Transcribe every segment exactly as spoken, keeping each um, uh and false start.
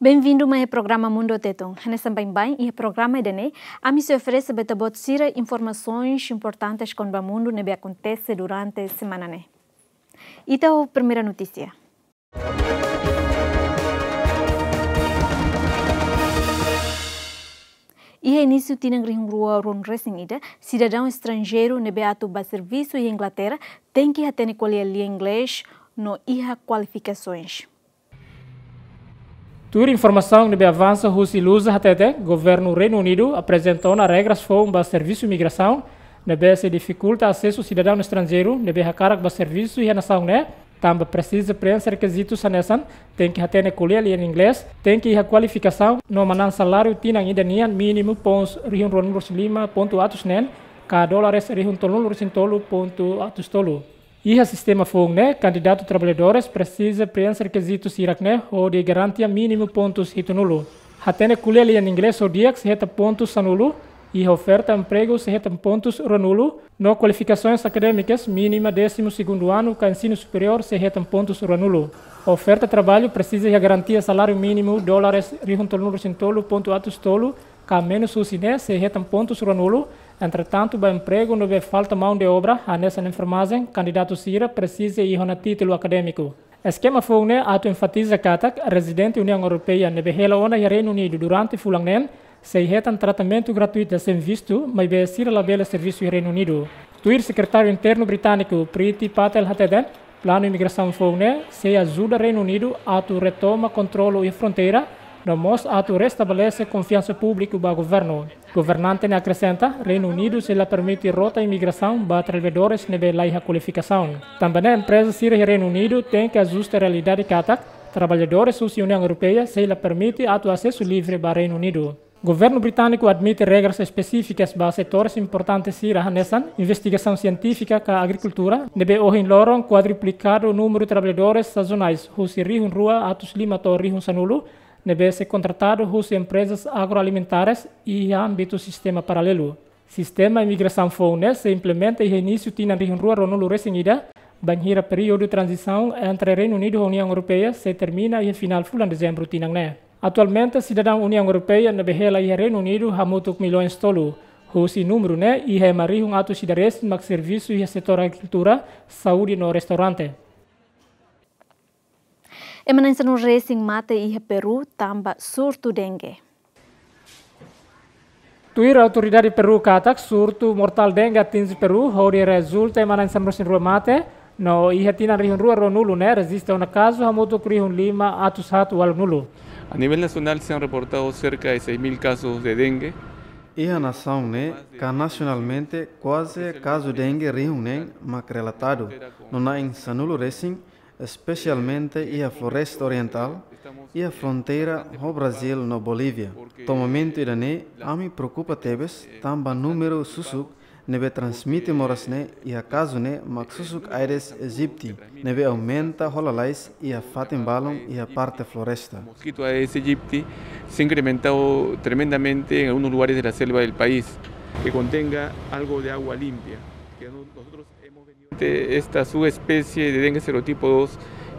Bem-vindo mai iha programa Mundu Tetun. Hanesan baibain iha programa ida-ne'e, ami sei oferese ba ita-boot sira informasoens importantes kona-ba mundu ne'ebé akontese durante semana ne'e. Ita ho primeira notísia. Iha inísiu tinan rihun rua ruanulu-resin-ida, sidadaun estranjeiru ne'ebé atu bá servisu iha Inglaterra tenke hatene ko'alia lian Inglés no iha kualifikasoens. Tuir informasaun ne'ebé avansa husi Lusa hatete, Governu Reinu Unidu aprezenta ona regras foun ba servisu imigrasaun ne'ebé sei difikulta asesu sidadaun estranjeiru ne'ebé hakarak bá servisu iha nasaun ne'e, tanba presiza preenxe rekizitus hanesan tenke hatene ko'alia lian Inglés, tenke iha kualifikasaun no manán saláriu tinan ida nian mínimu pons rihun ruanulu-resin-lima pontu atus neen, ka dólares rihun tolunulu-resin-tolu pontu atus tolu. Iha sistema foun ne'e, kandidatu traballadores presiza preenxe rekizitus hirak-ne'e hodi garantia mínimu pontus hitunulu. Hatene ko'alia lian Inglés ho di'ak sei hetan pontus sanulu, iha oferta empregu sei hetan pontus ruanulu, no kualifikasoens akadémikas mínima désimu segundu anu ka ensinu superiór sei hetan pontus ruanulu. Oferta traballu presiza iha garantia saláriu mínimu dólares rihun tolunulu-resin-tolu pontu atus tolu, ka menus husi ne'e sei hetan pontus ruanulu. Entretantu, ba empregu ne'ebé falta maun de obra, hanesan enfermajen, kandidatu sira presiza iha ona títulu akadémiku. Eskema foun ne'e atu enfatiza katak rezidente Uniaun Europeia ne'ebé hela ona iha Reinu Unidu durante fulan neen sei hetan tratamentu gratuitu sein vistu, maibé sira labele servisu iha Reinu Unidu. Tuir Sekretáriu Internu britániku Priti Patel hateten, planu imigrasaun foun ne'e sei ajuda Reinu Unidu atu retoma kontrolu iha fronteira, no mós atu restabelese konfiansa públiku ba governu. Governante ne'e akresenta, Reinu Unidu sei la permite rota imigrasaun ba traballadores ne'ebé laiha kualifikasaun. Tanba ne'e empreza sira iha Reinu Unidu tenke ajusta realidade katak traballadores husi Uniaun Europeia sei la permite atu asesu livre ba Reinu Unidu. Governu britániku admite regras espesífikas ba setores importantes sira hanesan investigasaun sientífika ka agrikultura, ne'ebé ohin loron kuadruplikadu númeru traballadores sazonais husi rihun rua atus lima to'o rihun sanulu, ne'ebé sei kontratadu husi emprezas agroalimentares iha ámbitu sistema paralelu. Sistema imigrasaun foun ne'e sei implementa iha inísiu tinan rihun rua ruanulu-resin-ida, bainhira períodu tranzisaun entre Reinu Unidu ho Uniaun Europeia sei termina iha finál fulan Dezembru tinan ne'e. Atualmente, sidadaun Uniaun Europeia ne'ebé hela iha Reinu Unidu hamutuk millaun tolu. Husi númeru ne'e, iha ema rihun atus ida resin mak servisu iha setór agrikultura, saúde no restaurante. Ema na'in sanulu-resin mate iha Peru tanba surtu dengue. Tuir autoridade Peru katak, surtu mortál dengue atinje Peru, hodi rezulta ema na'in sanulu-resin-rua mate, no iha tinan rihun rua ruanulu ne'e rejista ona kazu hamutuk rihun lima atus haat ualunulu. A nivel nacional se han reportado cerca de seis mil casos de dengue. Iha nasaun ne'e, ka nasionalmente, kuaze kazu dengue rihun neen mak relatadu, no na'in sanulu-resin, espesialmente iha Floresta Orientál, iha fronteira ho Brazíl no Bolívia. To'o momentu ida-ne'e, ami preokupa tebes, tanba númeru susuk ne'ebé transmite moras ne'e iha kazu ne'e mak susuk Aedes aegypti, ne'ebé aumenta ho lalais iha fatin balun iha parte floresta. Mosquito Aedes aegypti se ha incrementado tremendamente en algunos lugares de la selva del país. Que contenga algo de agua limpia. Que no-, nosotros hemos venido... Este, esta subespecie de dengue serotipo dos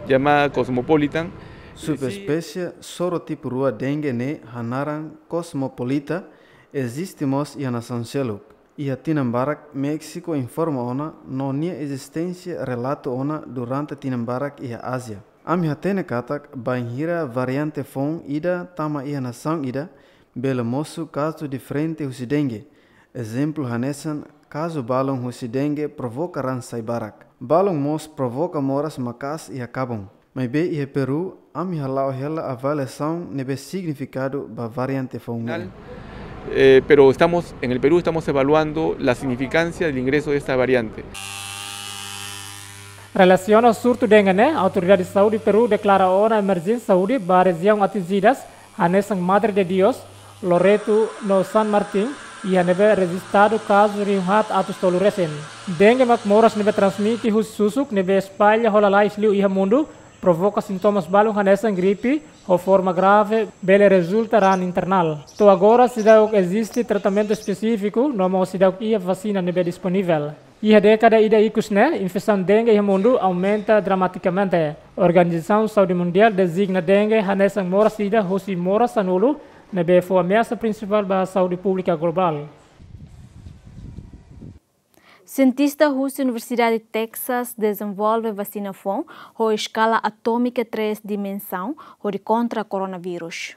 llamada Cosmopolitan. Subespésie serotipo rua dengue ne'e hanaran Cosmopolita eziste mós iha nasaun seluk. Iha tinan barak Méxiku informa ona no nia ezisténsia relata ona durante tinan barak iha Ázia. Ami hatene katak bainhira variante foun ida tama iha nasaun ida, bele mosu kazu diferente husi dengue. Ezemplu hanesan kazu balun husi dengue provoka raan sai barak. Balun mós provoka moras maka'as iha kabun. Maibé iha Peru, ami hala'o hela avaliasaun ne'ebé signifikadu ba variante foun ne'e. Eh, pero estamos, en el Perú estamos evaluando la significancia del ingreso de esta variante. Relasiona surtu dengue ne'e, Autoridade Saúde Peru deklara ona emerjénsia saúde ba rejiaun atinjidas, hanesan Madre de Dios, Loreto no San Martín, iha ne'ebé rejistadu kazu rihun haat atus tolu resin. Dengue mak moras ne'ebé transmite husi susuk ne'ebé espalla ho lalais liu iha mundu, provoka sintomas balun hanesan gripe, ho forma grave, bele rezulta raan internál. To'o agora seidauk eziste tratamentu espesífiku, no mós seidauk iha vasina ne'ebé disponivel. Iha dékada ida ikus ne'e, infesaun dengue iha mundu aumenta dramatikamente. Organizasaun Saúde Mundiál dezigna dengue hanesan moras ida husi moras sanulu ne'ebé fó ameasa prinsipál ba saúde públika globál. Sientista husi Universidade Texas dezenvolve vasina foun ho eskala atómika três dimensaun hodi kontra koronavírus.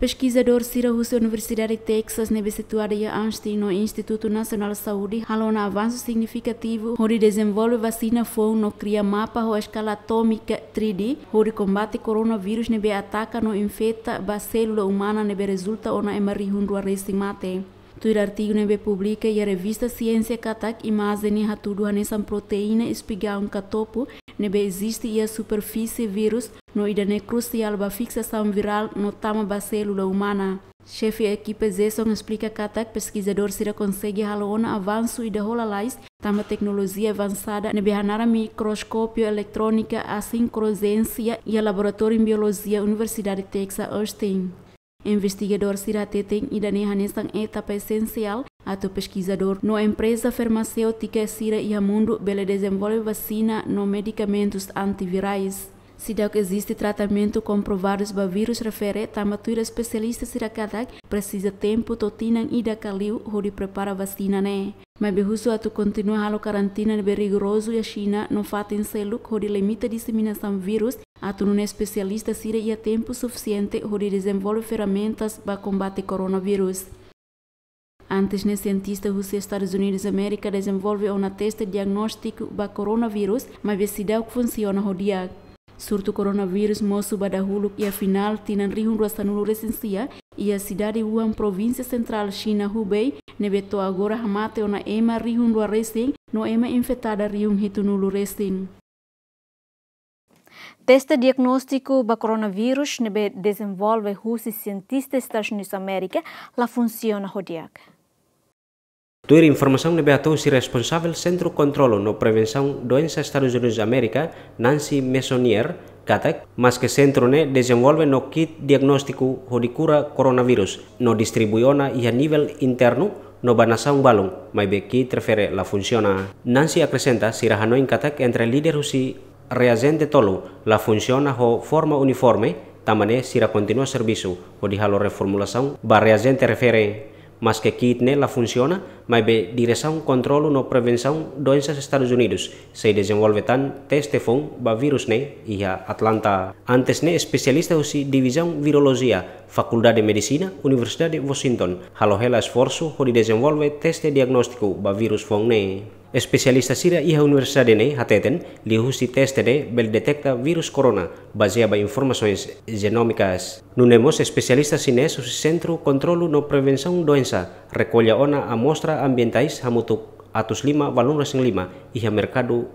Peskizadór sira husi Universidade Texas ne'ebé situada iha Austin no Institutu Nasionál Saúde halo ona avansu signifikativu hodi dezenvolve vasina foun no kria mapa ho eskala atómika três D hodi kombate koronavírus ne'ebé ataka no infeta ba sélula umana ne'ebé rezulta ona ema rihun rua resin mate. Tuir artigu ne'ebé publika iha revista Siénsia katak imajen ne'e hatudu hanesan proteína espigaun ka topu ne'ebé eziste iha superfísie vírus no ida-ne'e krusiál ba fiksasaun virál no tama ba sélula umana. Xefe ekipa Jason esplika katak peskizadór sira konsege halo ona avansu ida hola lalais tanba teknolojia avansada ne'ebé hanaran mikroskópiu eletrónika asin kruzénsia iha Laboratóriu Biolojia Universidade Texas Austin. Investigadór sira hateten ida-ne'e hanesan etapa esensiál atu peskizadór no empreza farmaséutika sira iha mundu bele dezenvolve vasina no medikamentus antivirais. Seidauk eziste tratamentu komprovadu ba vírus refere, tanba tuir espesialista sira katak presiza tempu to'o tinan ida ka liu hodi prepara vasina ne'e. Maibé husu atu kontinua halo karantina ne'ebé rigorozu iha Xina no fatin seluk hodi limita diseminasaun vírus, atu nune'e espesialista sira iha tempu sufisiente hodi dezenvolve ferramentas ba kombate koronavírus. Antes ne'e sientista husi Estadus Unidus Amérika dezenvolve ona teste diagnóstiku ba koronavírus, maibé seidauk funsiona ho di'ak. Surtu koronavírus mosu ba dahuluk iha final tinan rihun rua sanulu resin sia iha sidade Wuhan, provínsia sentrál Xina, Hubei, ne'ebé to'o agora hamate ona ema rihun rua resin no ema infetadu rihun hitunulu resin. Teste diagnóstiku ba koronavírus ne'ebé dezenvolve husi sientista Estadus Unidus Amérika la funsiona ho di'ak. Tuir informasaun ne'ebé hato'o husi responsavel Sentru Kontrolu no Prevensaun Doensa Estadus Unidus Amérika, Nancy Messonnier, katak, maske sentru ne'e dezenvolve ona kit diagnóstiku hodi kura koronavírus, no distribui ona iha nivel internu no ba nasaun balun, maibé kit refere la funsiona. Nancy akresenta, sira hanoin katak entre líder husi reajente tolu la funsiona ho forma uniforme, tanba ne'e sira kontinua servisu hodi halo reformulasaun ba reajente refere. Maske kit ne'e la funsiona, maibé Diresaun Kontrolu no Prevensaun Doensas Estadus Unidus sei dezenvolve tan teste foun ba vírus ne'e iha Atlanta. Antes ne'e espesialista husi Divizaun Virolojia, Fakuldade Medisina, Universidade Washington, halo hela esforsu hodi dezenvolve teste diagnóstiku ba vírus foun ne'e. Espesialista sira iha universidade ne'e hateten, liuhusi teste ne'e bele deteta vírus korona, bazeia ba informasoens jenómikas. Nune'e mós espesialista xinés husi Sentru Kontrolu no Prevensaun Doensa rekolla ona amostra ambientais hamutuk atus lima valun resin lima iha merkadu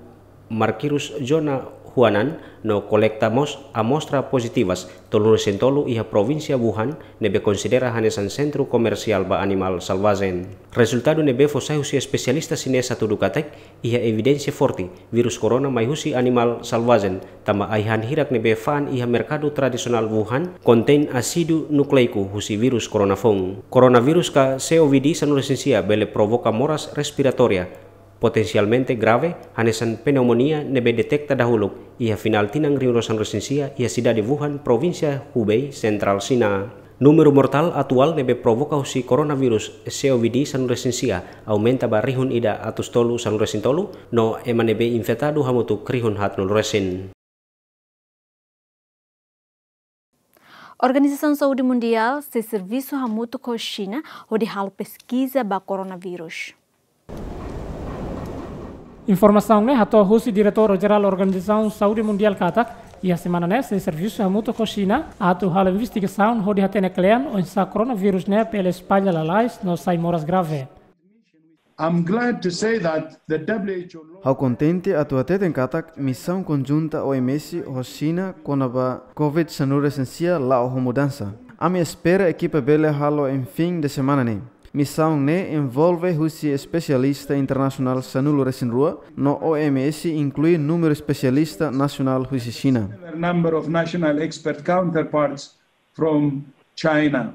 Markirus, zona Huanan, no kolekta mós amostra pozitivas tolunulu resin tolu iha provínsia Wuhan, ne'ebé konsidera hanesan sentru komersiál ba animál selvajen. Rezultadu ne'ebé fó sai husi espesialista xinés hatudu katak iha evidénsia forte vírus korona mai husi animál selvajen, tanba ai-han hirak ne'ebé fa'an iha merkadu tradisionál Wuhan kontein ásidu nukleiku husi vírus korona foun. Koronavírus ka COVID sanulu resin sia bele provoka moras respiratória potensialmente grave, hanesan pneumonia ne'ebé deteta dahuluk iha final tinan rihun rua sanulu resin sia iha sidade Wuhan, provínsia Hubei, sentrál Xina. Númeru mortál atuál ne'ebé provoka husi koronavírus COVID sanulu resin sia aumenta ba rihun ida atus tolu sanulu resin tolu, no ema ne'ebé infetadu hamutuk rihun haatnulu resin. Organizasaun Saúde Mundiál sei servisu hamutuk ho Xina hodi halo peskiza ba koronavírus. Informasaun ne'e hato'o husi Diretór Jerál Organizasaun Saúde Mundiál katak, iha semana ne'e sei servisu hamutuk ho Xina atu halo investigasaun hodi hatene kle'an oinsá koronavírus ne'e bele espalla lalais no sai moras grave. I'm glad to say that the W H O Ha'u kontente atu hateten katak misaun konjunta O M S ho Xina kona-ba COVID sanulu resin sia la'o ho mudansa. Ami espera ekipa bele halo iha fin de semana ne'e. Misaun ne'e envolve husi espesialista internasionál sanulu resin rua, no O M S inklui númeru espesialista nasionál husi Xina. Similar number of national expert counterparts from China.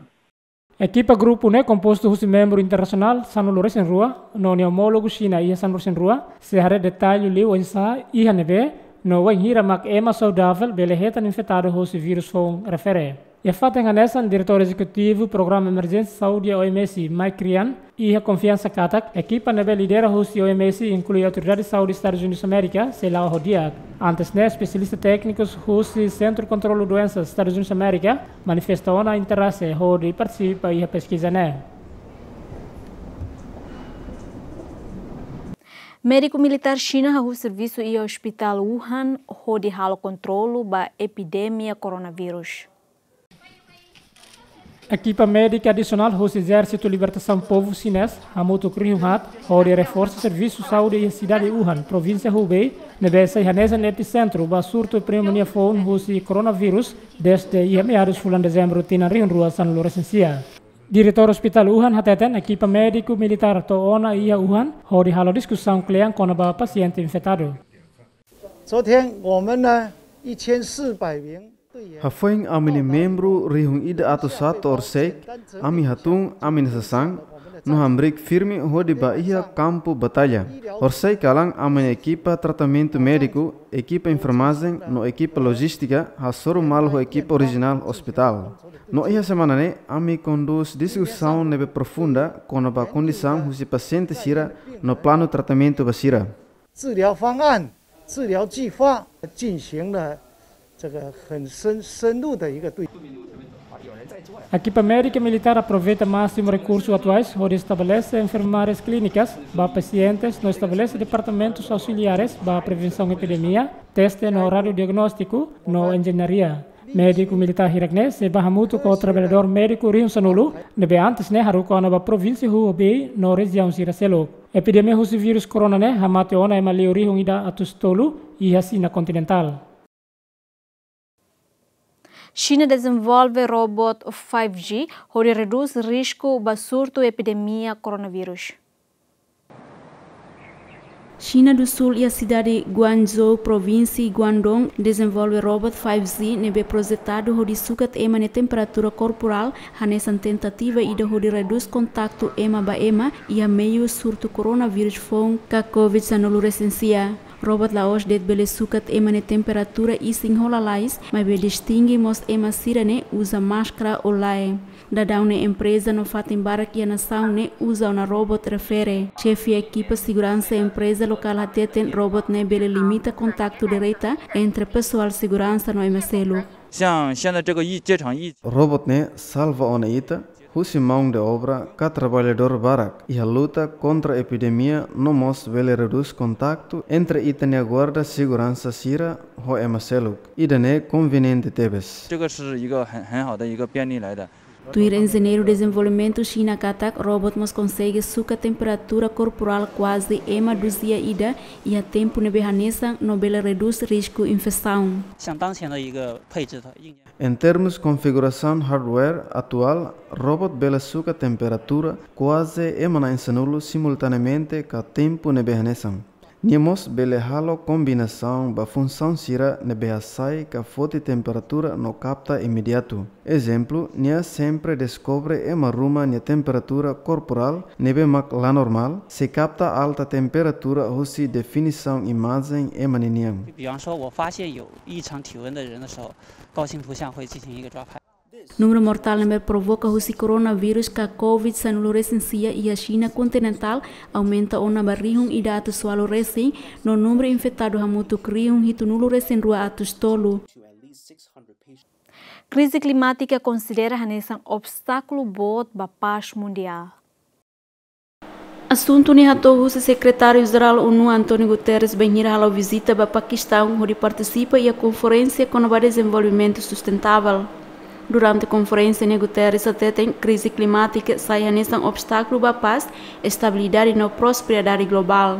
Ekipa grupu ne'e kompostu husi membru internasionál sanulu-resin-rua, no nia omólogu Xina iha sanulu-resin-rua, sei haree detalle liu oinsá, iha ne'ebé, no wainhira mak ema saudavel bele hetan infetadu hosi vírus foun refere. Iha fatin hanesan, Diretór Ezekutivu Programa Emerjénsia Saúde O M S, Mike Ryan, iha konfiansa katak ekipa ne'ebé lidera husi O M S, inklui Autoridade Saúde Estadus Unidus Amérika, sei la'o ho di'ak. Antes ne'e, espesialista téknikus husi Sentru Kontrolu Doensa Estadus Unidus Amérika manifesta ona interese hodi partisipa iha peskiza ne'e. Médiku militár Xina hahú servisu iha Ospitál Wuhan hodi halo kontrolu ba epidemia koronavírus. Ekipa médika adisionál husi Ezérsitu Libertasaun Povu Xinés hamutuk rihun haat hodi reforsa servisu saúde iha sidade Wuhan, provínsia Hubei, ne'ebé sai hanesan episentru ba surtu pneumonia foun husi koronavírus dezde iha meadus fulan Dezembru tinan rihun rua sanulu-resin-sia. Diretór Ospitál Wuhan hateten ekipa médiku militár to'o ona iha Wuhan hodi halo diskusaun kle'an kona-ba pasiente infetadu. 昨天我们呢，一千四百名队员 Hafoin ami-nia membru rihun ida atus haat to'o horiseik, ami hatún ami-nia sasán, no hamriik firme hodi bá iha kampu batalla. Horiseik kalan ami-nia ekipa tratamentu médiku, ekipa enfermajen, no ekipa lojístika hasoru malu ho ekipa orijinál ospitál. No iha semana ne'e, ami kondús diskusaun ne'ebé profunda kona-ba kondisaun husi pasiente sira no planu tratamentu ba sira. 治疗方案、治疗计划进行了这个很深、深入的一个对 Ekipa médika militár aproveita másimu rekursu atuais hodi estabelese enfermarias klínikas ba pasientes no estabelese departamentus ausiliares ba prevensaun epidemia, teste no radiodiagnóstiku no enjeñaria. Médiku militár hirak-ne'e sei bá hamutuk ho traballadór médiku rihun sanulu, ne'ebé antes ne'e haruka ona ba provínsia Hubei no rejiaun sira seluk. Epidemia husi vírus korona ne'e hamate ona ema liu rihun ida atus tolu iha Xina kontinentál. Xina dezenvolve robot five G hodi redús risku ba surtu epidemia koronavírus. Xina du Sul iha sidade Guangzhou, provínsia Guangdong, dezenvolve robot five G ne'ebé projetadu hodi sukat ema nia temperatura korporál, hanesan tentativa ida hodi redús kontaktu ema ba ema iha meiu surtu koronavírus foun ka covid sanulu-resin-sia. Robot la'ós de'it bele sukat ema nia temperatura isin ho lalais, maibé distinge mós ema sira-ne'e uza máskara ou lae. Daudaun ne'e empreza no fatin barak iha nasaun ne'e uza ona robot refere. Xefe ekipa seguransa empreza lokál hateten robot ne'e bele limita kontaktu direta entre pesoál seguransa no ema seluk. 像现在这个疫，这场疫 Robot ne'e salva ona ita husi mão de obra ka traballadór barak iha luta kontra epidemia no mós bele redús kontaktu entre ita-nia guarda seguransa sira ho ema seluk. Ida-ne'e konveniente tebes. 这个是一个很，很好的一个便利来的。 Tuir enjeñeiru dezenvolvimentu Xina katak, robot mós konsege sukat temperatura korporál kuaze ema duzia ida iha tempu ne'ebé hanesan no bele redús risku infesaun. 像当前的一个配置的硬件 Em termus konfigurasaun hardware atuál, robot bele sukat temperatura kuaze ema na'in sanulu simultaneamente ka tempu ne'ebé hanesan. Nia mós bele halo kombinasaun ba funsaun sira ne'ebé hasai ka foti temperatura no kapta imediatu. Ezemplu, nia sempre deskobre ema ruma nia temperatura korporál ne'ebé mak la normál, sei kapta alta temperatura husi definisaun imajen ema ninian. 比方说，我发现有异常体温的人的时候，高清图像会进行一个抓拍。 Númeru mortál ne'ebé provoka husi koronavírus ka covid sanulu-resin-sia iha Xina kontinentál aumenta ona ba rihun ida atus ualu resin, no númeru infetadu hamutuk rihun hitunulu-resin-rua atus tolu. Krize klimátika konsidera hanesan obstákulu boot ba pás mundiál. Asuntu ne'e hato'o husi Sekretáriu-Jerál ONU António Guterres bainhira halo vizita ba Pakistaun hodi partisipa iha konferénsia kona-ba dezenvolvimentu sustentável. Durante konferénsia ne'e Guterres hateten krize klimátika sai hanesan obstákulu ba pás, estabilidade no prosperidade globál.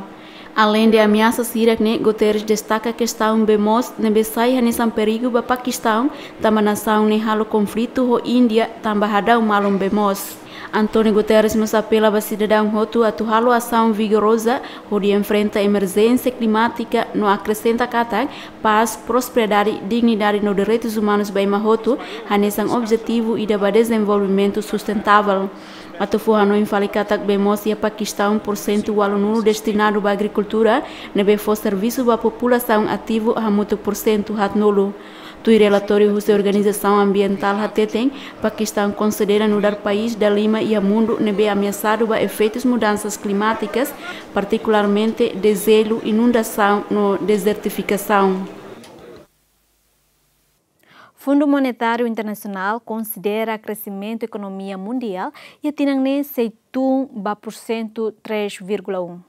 Aleinde ameasa sira-ne'e, Guterres destaka kestaun bee moos ne'ebé sai hanesan perigu ba Pakistaun, tanba nasaun ne'e halo konflitu ho Índia tanba hadau malun bee moos. António Guterres mós apela ba sidadaun hotu atu halo asaun vigoroza hodi enfrenta emerjénsia klimátika no akresenta katak pás, prosperidade, dignidade no direitus umanus ba ema hotu hanesan objetivu ida ba dezenvolvimentu sustentável. Atu fó hanoin fali katak bee moos iha Pakistaun porsentu ualunulu destinadu ba agrikultura, ne'ebé fó servisu ba populasaun ativu hamutuk porsentu haatnulu. Tuir relatóriu husi organizasaun ambientál hateten, Pakistaun konsidera nu'udar país dalima iha mundu ne'ebé ameasadu ba efeitus mudansas klimátikas, partikularmente dezelu, inundasaun no dezertifikasaun. Fundu Monetáriu Internasionál konsidera kresimentu ekonomia mundiál iha tinan ne'e sei tun ba porsentu três vírgula um.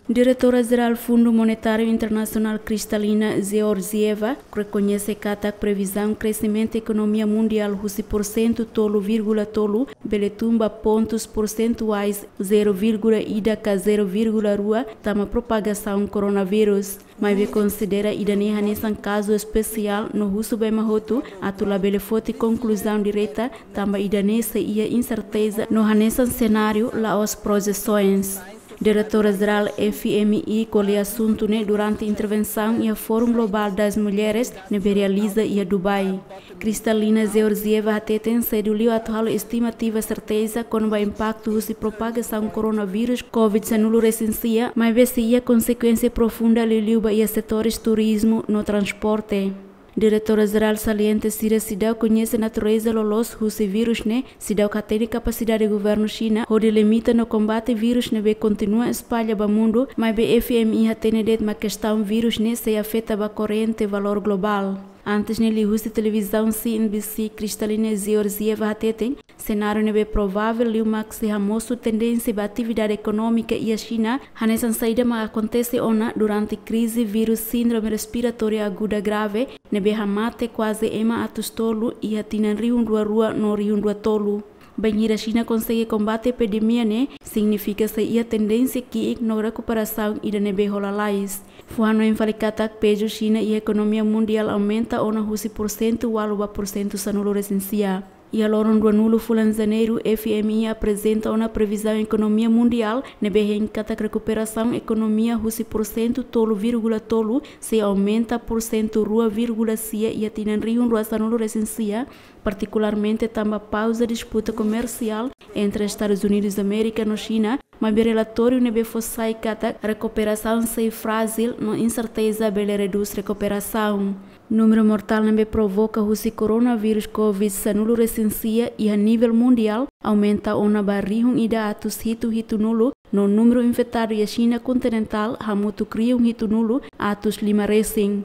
Diretora Jerál Fundu Monetáriu Internasionál Kristalina Georgieva rekoñese katak previzaun kresimentu ekonomia mundiál husi porsentu tolu vírgula tolu bele tun ba pontus porsentuais zero vírgula ida ka zero vírgula rua tanba propagasaun koronavírus. Maibé konsidera ida-ne'e hanesan kazu espesiál no husu ba ema hotu atu labele foti konkluzaun direta, tanba ida-ne'e sei iha inserteza no hanesan senáriu, la'ós projesoens. Diretora Jerál F M I ko'alia asuntu ne'e durante intervensaun iha Fórum Global das Mulheres ne'ebé realiza iha Dubai. Kristalina Georgieva hateten sedu liu atu halo estimativa serteza kona-ba impaktu husi propagasaun koronavírus covid sanulu resin sia, maibé sei iha konsekuénsia profunda liuliu ba iha setores turizmu no transporte. Diretora Jerál salienta sira seidauk koñese natureza loloos husi vírus ne'e, seidauk hatene kapasidade governu Xina hodi limita no kombate vírus ne'ebé kontinua espalla ba mundu, maibé F M I hatene de'it mak kestaun vírus ne'e sei afeta ba korrente valór globál. Antes ne'e, liuhusi televizaun C N B C, Kristalina Georgieva hateten, senáriu ne'ebé provável liu mak sei hamosu tendénsia ba atividade ekonómika iha Xina, hanesan saida mak akontese ona durante krize vírus síndrome respiratória aguda grave, ne'ebé hamate kuaze ema atus tolu iha tinan rihun rua rua no rihun rua tolu. Bainhira Xina konsege kombate epidemia ne'e, signifika sei iha tendénsia ki'ik no rekuperasaun ida ne'ebé hola lalais. Fó hanoin fali katak pezu Xina iha ekonomia mundiál aumenta ona husi porsentu ualu ba porsentu sanulu resin sia. Iha loron ruanulu fulan Janeiru, F M I aprezenta ona previzaun ekonomia mundiál ne'ebé hein katak rekuperasaun ekonomia husi porsentu tolu vírgula tolu sei aumenta porsentu rua vírgula sia iha tinan rihun rua sanulu resin sia, partikularmente tanba pauza disputa komersiál entre Estadus Unidus Amérika no Xina, maibé relatóriu ne'ebé fó sai katak rekuperasaun sei frajil no inserteza bele redús rekuperasaun. Númeru mortál ne'ebé provoka husi koronavírus covid sanulu resin sia iha nivel mundiál aumenta ona ba rihun ida atus hitu hitunulu, no númeru infetadu iha Xina kontinentál hamutuk rihun hitunulu atus lima resin.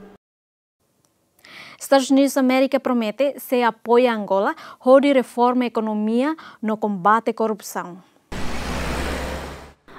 Estadus Unidus Amérika promete sei apoia Angola hodi reforma ekonomia no kombate korrupsaun.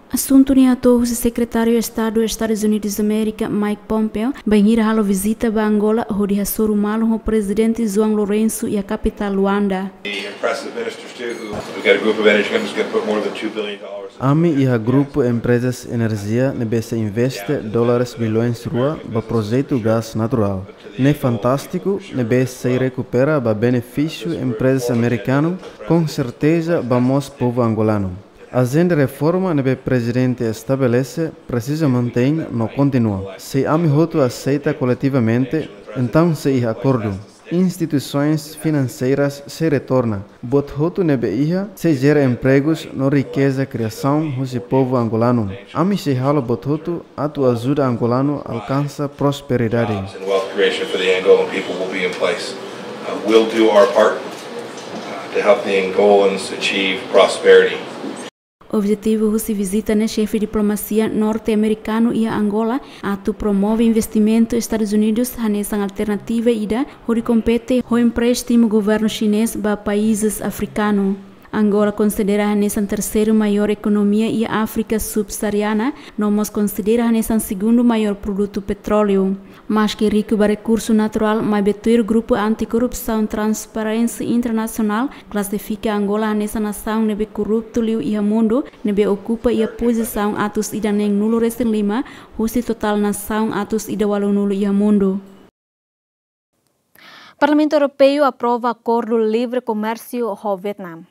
Asuntu ne'e hato'o husi Sekretáriu Estadu Estadus Unidus Amérika, Mike Pompeo, bainhira halo vizita ba Angola hodi hasoru malu ho Prezidente João Lourenço iha kapitál Luanda. The impressive ministers too, who, we've got a group of energy companies gonna put more than two billion dollars. Ami iha grupu emprezas enerjia ne'ebé sei investe dólares bilhões rua ba projetu gás naturál. Ne'e fantástiku, ne'ebé sei rekupera ba benefísiu emprezas amerikanu, konserteza ba mós povu angolanu. Ajenda reforma ne'ebé prezidente estabelese presiza mantein no kontinua. Se ami hotu aseita koletivamente, entaun sei iha akordu. Instituisoens finanseiras sei retorna. Buat hotu ne'ebé iha sei jera empregus no rikeza kriasaun husi povu angolanu. Ami sei halo buat hotu atu ajuda angolanu alkansa prosperidade. Jobs and wealth creation for the Angolan people will be in place. Uh, we'll do our part, uh, to help the Angolans achieve prosperity. Objetivu husi vizita ne'e xefe diplomasia norte-amerikanu iha Angola atu promove investimentu Estadus Unidus hanesan alternativa ida hodi kompete ho empréstimu governu xinés ba países afrikanu. Angola konsidera hanesan terseiru maiór ekonomia iha Áfrika subsaariana, no mós konsidera hanesan segundu maiór produtu petróleu. Maski riku ba rekursu naturál, maibé tuir grupu anti-korrupsaun Transparency International klasifika Angola hanesan nasaun ne'ebé korruptu liu iha mundu, ne'ebé okupa iha pozisaun atus ida neenulu resin lima husi totál nasaun atus ida ualunulu iha mundu. Parlamentu Europeu aprova akordu livre komérsiu ho Vietnam.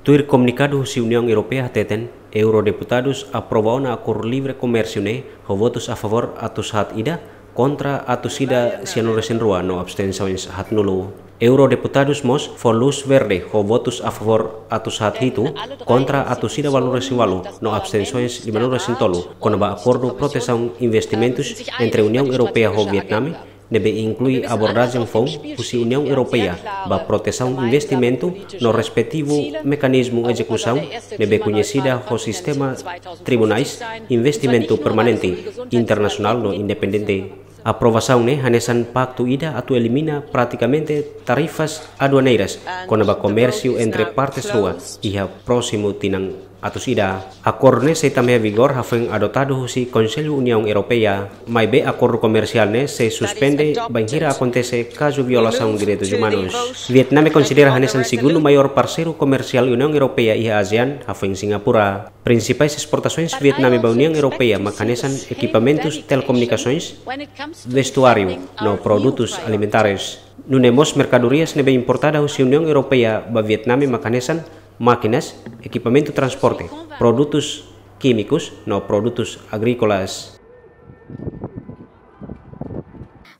Tuir komunikadu husi Uniaun Europeia hateten, eurodeputadus aprova ona akordu livre komérsiu ne'e ho votus a favór atus haat ida, kontra atus ida sianulu resin rua no abstensoens haatnulu. Eurodeputadus mós fó lús verde ho votus a favór atus haat hitu, kontra atus ida ualunulu resin ualu no abstensoens limanulu resin tolu, kona-ba akordu protesaun investimentus entre Uniaun Europeia ho Vietname, ne'ebé inklui abordajen foun husi Uniaun Europeia ba protesaun investimentu no respetivu mekanizmu ezekusaun ne'ebé koñesida ho sistema tribunais investimentu permanente, internasionál no independente. Aprovasaun ne'e hanesan paktu ida atu elimina pratikamente tarifas aduaneiras kona-ba komérsiu entre partes rua iha prósimu tinan atus ida. Akordu ne'e sei tama iha vigór hafoin adotadu husi Konsellu Uniaun Europeia, maibé akordu komersiál ne'e sei suspende bainhira akontese kazu violasaun direitus umanus. Vietname konsidera hanesan segundu maiór parseiru komersiál Uniaun Europeia iha ASEAN, hafoin Singapura. Prinsipais esportasoens Vietname ba Uniaun Europeia mak hanesan ekipamentus telekomunikasoens, vestuáriu no produtus alimentares. Nune'e mós merkadorias ne'ebé importada husi Uniaun Europeia ba Vietname mak hanesan mákinas, ekipamentu transporte, produtus kímikus no produtus agríkolas.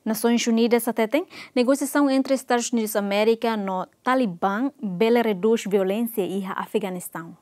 Nasoins Unidas hateten, negosiasaun entre Estadus Unidus Amérika no Talibán bele redús violénsia iha Afeganistaun.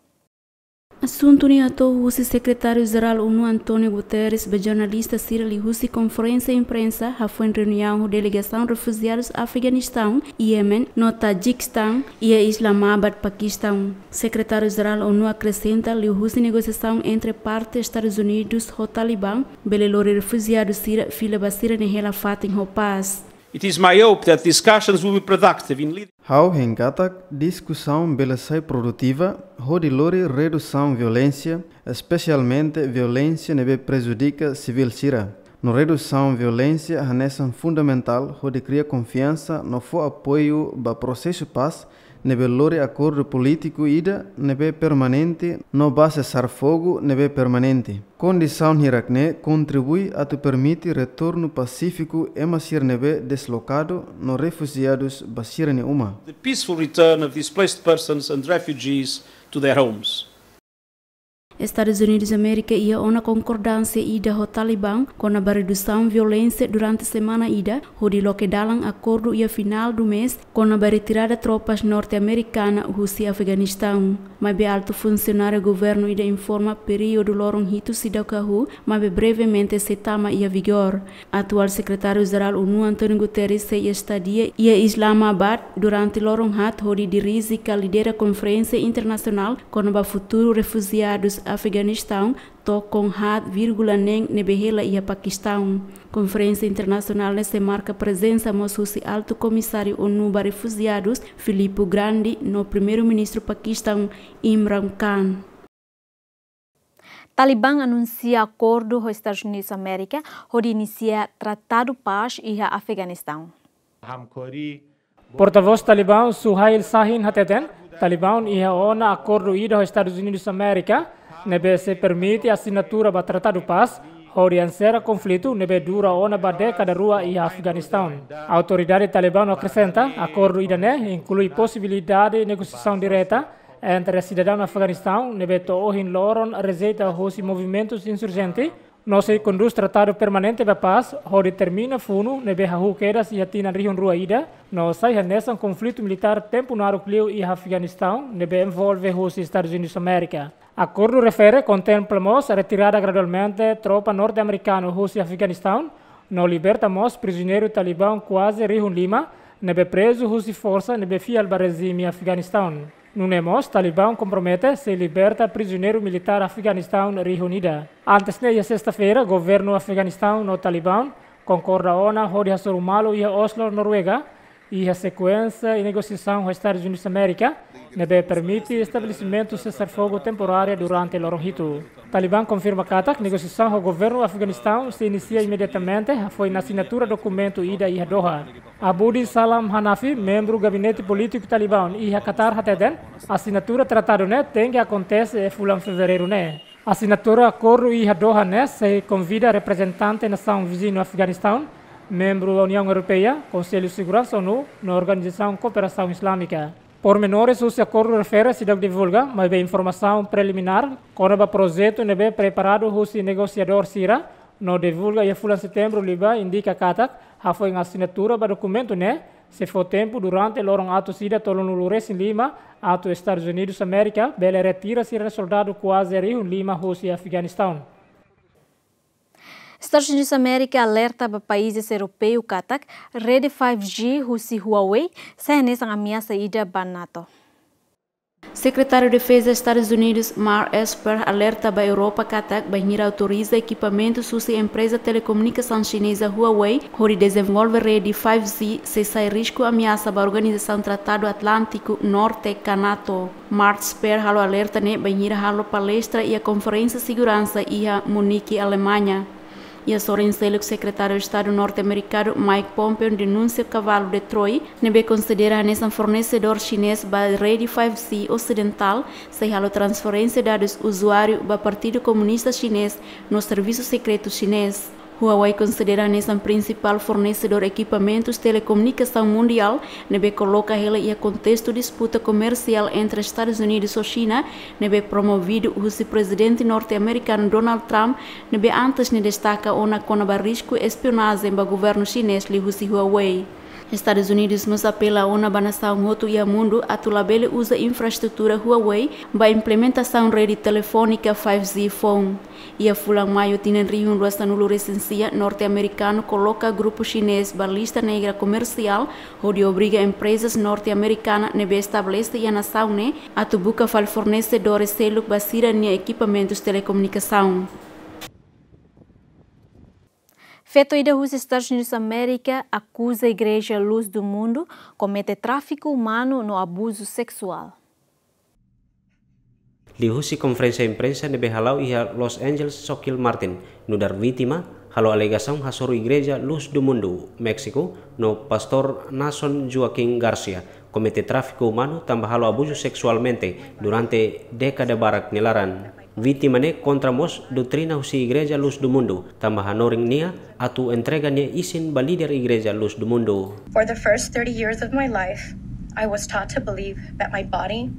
Asuntu ne'e hato'o husi Sekretáriu Jerál ONU António Guterres ba jornalista sira liuhusi konferénsia imprensa hafoin reuniaun ho delegasaun refujiadus Afeganistaun, Iémen no Tajikistaun iha Islamabad, Pakistaun. Sekretáriu Jerál ONU akresenta liuhusi negosiasaun entre parte Estadus Unidus ho Talibán bele lori refujiadu sira fila ba sira-nia hela fatin ho pás. It is my hope that discussions will be productive in leading Ha'u hein katak diskusaun bele sai produtiva hodi lori redusaun violénsia, espesialmente violénsia ne'ebé prejudika sivíl sira. No redusaun violénsia hanesan fundamentál hodi kria konfiansa no fó apoiu ba prosesu pás ne'ebé lori akordu polítiku ida ne'ebé permanente no ba sesar-fogu ne'ebé permanente. Kondisaun hirak-ne'e kontribui atu permite retornu pasífiku ema sira ne'ebé deslokadu no refujiadus ba sira-nia uma. The peaceful return of displaced persons and refugees to their homes. Estadus Unidus Amérika iha ona konkordánsia ida ho Talibán kona-ba redusaun violénsia durante semana ida, hodi loke dalan akordu iha finál do mês kona-ba retirada tropas norte-amerikana husi Afeganistaun. Maibé altu funsionáriu governu ida informa períodu loron hitu seidauk hahú, maibé brevemente sei tama iha vigór. Atuál Sekretáriu Jerál ONU António Guterres sei estadia iha Islamabad durante loron haat hodi dirije ka lidera konferénsia internasionál kona-ba futuru refujiadus Afeganistaun, to'o kon haat vírgula neen ne'ebé hela iha Pakistaun. Konferénsia internasionál ne'e sei marka prezensa mós husi Altu Komisáriu ONU ba Refujiadus, Filippo Grandi, no Primeiru-Ministru Pakistaun, Imran Khan. Talibán anunsia akordu ho Estadus Unidus Amérika hodi inisia tratadu pás iha Afeganistaun. Portavós Talibán Suhail Shaheen hateten, Talibán iha ona akordu ida ho Estadus Unidus Amérika, ne'ebé sei permite asinatura ba tratadu pás, hodi enserra konflitu ne'ebé dura ona ba dékada rua iha Afeganistaun. Autoridade Talibán akresenta, akordu ida-ne'e inklui posibilidade negosiasaun direta entre sidadaun Afeganistaun ne'ebé to'o ohin loron rejeita hosi movimentus insurjente, no sei kondús tratadu permanente ba pás, hodi termina funu ne'ebé hahú kedas iha tinan rihun rua ida, no sai hanesan konflitu militár tempu naruk liu iha Afeganistaun, ne'ebé envolve husi Estadus Unidus Amérika. Akordu refere kontempla mós retirada gradualmente tropa norte-amerikanu husi Afeganistaun, no liberta mós prizioneiru Talibán kuaze rihun lima, ne'ebé prezu husi forsa ne'ebé fiél ba rejime Afeganistaun. Nune'e mós Talibán kompromete sei liberta prizioneiru militár Afeganistaun rihun ida. Antes ne'e, iha sesta-feira, governu Afeganistaun no Talibán konkorda ona hodi hasoru malu iha Oslo, Noruega, iha sekuénsia negosiasaun ho Estadus Unidus Amérika, ne'ebé permite estabelesimentu sesar-fogu temporária durante loron hitu. Talibán konfirma katak negosiasaun ho governu Afeganistaun sei inisia imediatamente hafoin asinatura dokumentu ida iha Doha. Abudi Salam Hanafi, membru gabinete polítiku Talibán iha Qatar hateten, asinatura tratadu ne'e tenke akontese fulan fevereiru ne'e. Asinatura akordu iha Doha ne'e sei konvida reprezentante nasaun viziñu Afeganistaun, membru Uniaun Europeia, Konsellu Seguransa ONU, no Organizasaun Kooperasaun Islámika. Pormenores husi akordu refere seidauk divulga, maibé informasaun preliminár kona-ba projetu ne'ebé preparadu husi negosiadór sira no divulga iha fulan Setembru liubá indika katak hafoin asinatura ba dokumentu ne'e sei fó tempu durante loron atus ida tolunulu-resin-lima atu Estadus Unidus Amérika bele retira sira-nia soldadu kuaze rihun lima husi Afeganistaun. Estadus Unidus Amérika alerta ba países europeu katak rede five G husi Huawei sai hanesan ameasa ida ba NATO. Sekretáriu Defeza Estadus Unidus, Mark Esper, alerta ba Europa katak bainhira autoriza ekipamentus husi empreza telekomunikasaun xineza Huawei hodi dezenvolve rede five G, sei sai risku ameasa ba Organizasaun Tratadu Atlántiku Norte ka NATO. Mark Esper halo alerta ne'e bainhira halo palestra iha konferénsia seguransa iha Munique, Alemanha. Iha sorin seluk, Sekretáriu Estadu norte-amerikanu Mike Pompeo denunsia kavalu de Troia ne'ebé konsidera hanesan fornesedór xinez ba rede five G osidentál, sei halo transferénsia dadus uzuáriu ba Partidu Komunista Xinez no servisu sekretu xinez. Huawei konsidera hanesan prinsipál fornesedór ekipamentus telekomunikasaun mundiál, ne'ebé koloka hela iha kontestu disputa komersiál entre Estadus Unidus ho Xina, ne'ebé promovidu husi Prezidente norte-amerikanu Donald Trump, ne'ebé antes ne'e destaka ona kona-ba risku espionajen ba governu xinez liuhusi Huawei. Estadus Unidus mós apela ona ba nasaun hotu iha mundu atu labele uza infraestrutura Huawei ba implementasaun rede telefónika five G foun. Iha fulan Maiu tinan rihun rua sanulu-resin-sia, norte-amerikanu koloka grupu xinez ba lista negra komersiál, hodi obriga emprezas norte-amerikana ne'ebé estabelese iha nasaun ne'e atu buka fali fornesedores seluk ba sira-nia ekipamentus telekomunikasaun. Feto ida husi Estadus Unidus Amérika akuza Igreja Luz do Mundo komete tráfiku umanu no abuzu seksuál. Liuhusi konferénsia imprensa ne'ebé hala'o iha Los Angeles, Soquel Martin, nu'udar vítima, halo alegasaun hasoru Igreja Luz do Mundo, Méxiku, no Pastór Nason Joaquim Garcia komete tráfiku umanu tanba halo abuzu seksualmente durante dékada barak nia laran. Vítima ne'e kontra mós doutrina husi Igreja Luz do Mundo, tanba hanorin nia atu entrega nia isin ba líder Igreja Luz do Mundo. For the first thirty years of my life, I was taught to believe that my body,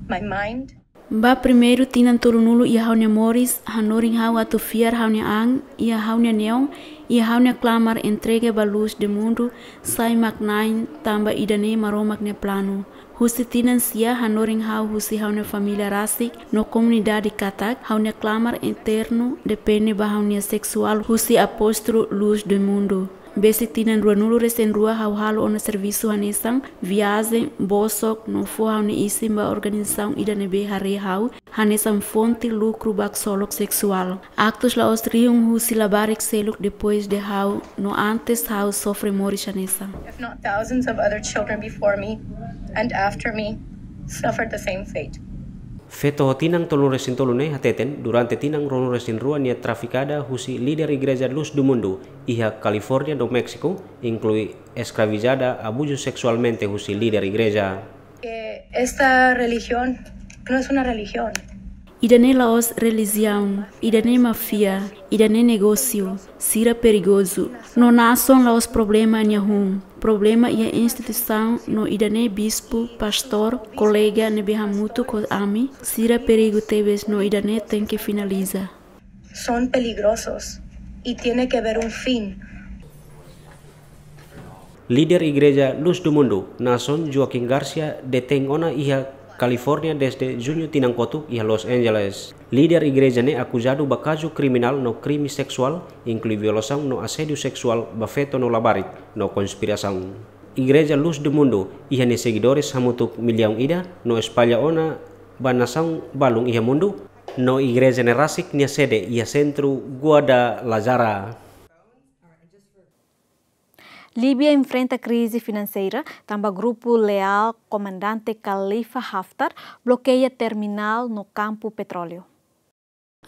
my mind, Ba primeiru tinan tolunulu iha ha'u-nia moris, hanorin ha'u atu fiar ha'u-nia an, iha ha'u-nia neon, iha ha'u-nia klamar entrega ba Luz do Mundo, sai mak Na'i, tanba ida-ne'e Maromak nia planu. Husi tinan sia hanorin ha'u husi ha'u-nia família rasik no komunidade katak ha'u-nia klamar eternu depende ba ha'u-nia seksuál husi apóstolu Luz do Mundo. Besik tinan ruanulu-resin-rua ha'u halo ona servisu hanesan viajen, bosok no fó ha'u-nia isin ba organizasaun ida ne'ebé haree ha'u hanesan fonte lukru ba ksolok seksuál. Aktus la'ós rihun husi labarik seluk depois de ha'u no antes ha'u sofre moris hanesan. If not thousands of other children before me and after me suffered the same fate. Feto ho tinan tolunulu-resin-tolu ne'e hateten, durante tinan ruanulu-resin-rua nia trafikada husi líder Igreja Luz do Mundo iha California no México, inklui eskravizada, abuzu seksualmente husi líder igreja. Eh, esta religión no es una religión. Ida-ne'e la'ós relijiaun, ida-ne'e máfia, ida-ne'e negósiu, sira perigozu. No Nason la'ós problema nia hun, problema iha instituisaun no ida-ne'e bispu, pastór, kolega ne'ebé hamutuk ho ami, sira perigu tebes no ida-ne'e tenke finaliza. Son peligrosos y tiene que haber un fin. Líder Igreja Luz do Mundo, Nason Joaquim Garcia, detein ona iha California desde juñu tinan kotuk iha Los Angeles. Líder igreja ne'e akuzadu ba kazu kriminál no krime seksuál, inklui violasaun no asédiu seksuál ba feto no labarik, no konspirasaun. Igreja Luz do Mundo iha nia segidores hamutuk millaun ida no espalla ona ba nasaun balun iha mundu, no igreja ne'e rasik nia sede iha sentru Guadalajara. Líbia enfrenta krize finanseira tanba grupu leál komandante Khalifa Haftar blokeia terminál no kampu petróleu.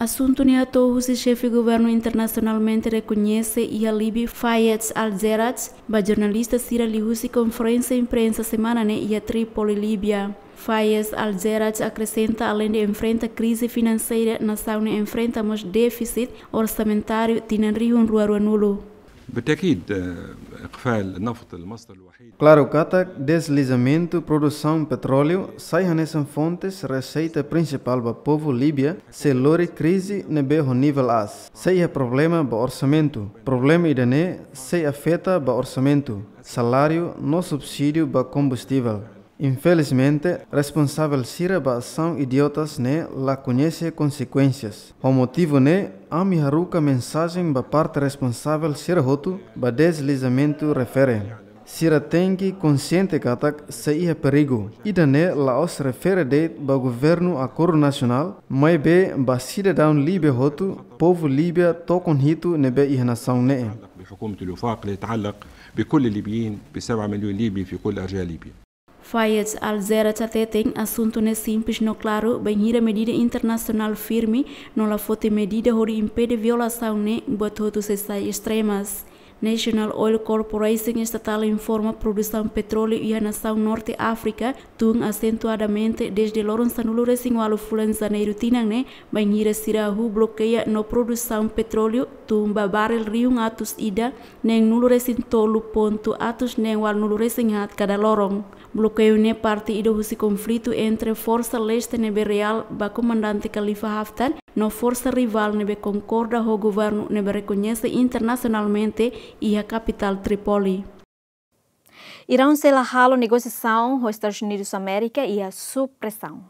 Asuntu ne'e hato'o husi xefe governu internasionalmente rekoñese iha Líbia, Fayez Al-Serraj, ba jornalista sira liuhusi konferénsia imprensa semana ne'e iha Trípoli, Líbia. Fayez Al-Serraj akresenta, aleinde enfrenta krize finanseira, nasaun ne'e enfrenta mós défisit orsamentáriu tinan rihun rua ruanulu. بالتأكيد، آه، إقفال النفط المصدر الوحيد. Klaru katak deslizamentu produsaun petróleu sai hanesan fontes reseita prinsipál ba povu Líbia sei lori krize ne'ebé ho nivel aas. Sei iha problema ba orsamentu. Problema ida-ne'e sei afeta ba orsamentu, saláriu no subsídiu ba kombustivel. Infelizmente, responsavel sira ba asaun idiotas ne'e la koñese konsekuénsias. Ho motivu ne'e, ami haruka mensajen ba parte responsavel sira hotu ba deslizamentu refere. Sira tenke konsiente katak sei iha perigu. Ida-ne'e la'ós refere de'it ba governu akordu nasionál, maibé ba sidadaun Líbia hotu, povu Líbia tokon hitu ne'ebé iha nasaun ne'e. بحكومة الوفاق، لا يتعلق بكل الليبيين، بسبعة مليون ليبي في كل أرجاء ليبيا. Fayez Al-Zerraj hateten asuntu ne'e simples no klaru, bainhira medida internasionál firme no la foti medida hodi impede violasaun ne'e, buat hotu sei sai estremas. National Oil Corporation estatál informa produsaun petróleu iha nasaun Norte Áfrika tun asentuadamente dezde loron sanulu-resin-ualu fulan Janeiru tinan ne'e, bainhira sira hahú blokeia no produsaun petróleu tun ba barrel rihun atus ida neen-nulu-resin-tolu pontu atus neen ualunulu-resin-haat kada loron. Blokeiu ne'e parte ida husi konflitu entre forsa leste ne'ebé leal ba komandante Khalifa Haftar no forsa rivál ne'ebé konkorda ho governu ne'ebé rekoñese internasionalmente iha kapitál Trípoli. Iraun sei la halo negosiasaun ho Estadus Unidus Amérika iha sub-presaun.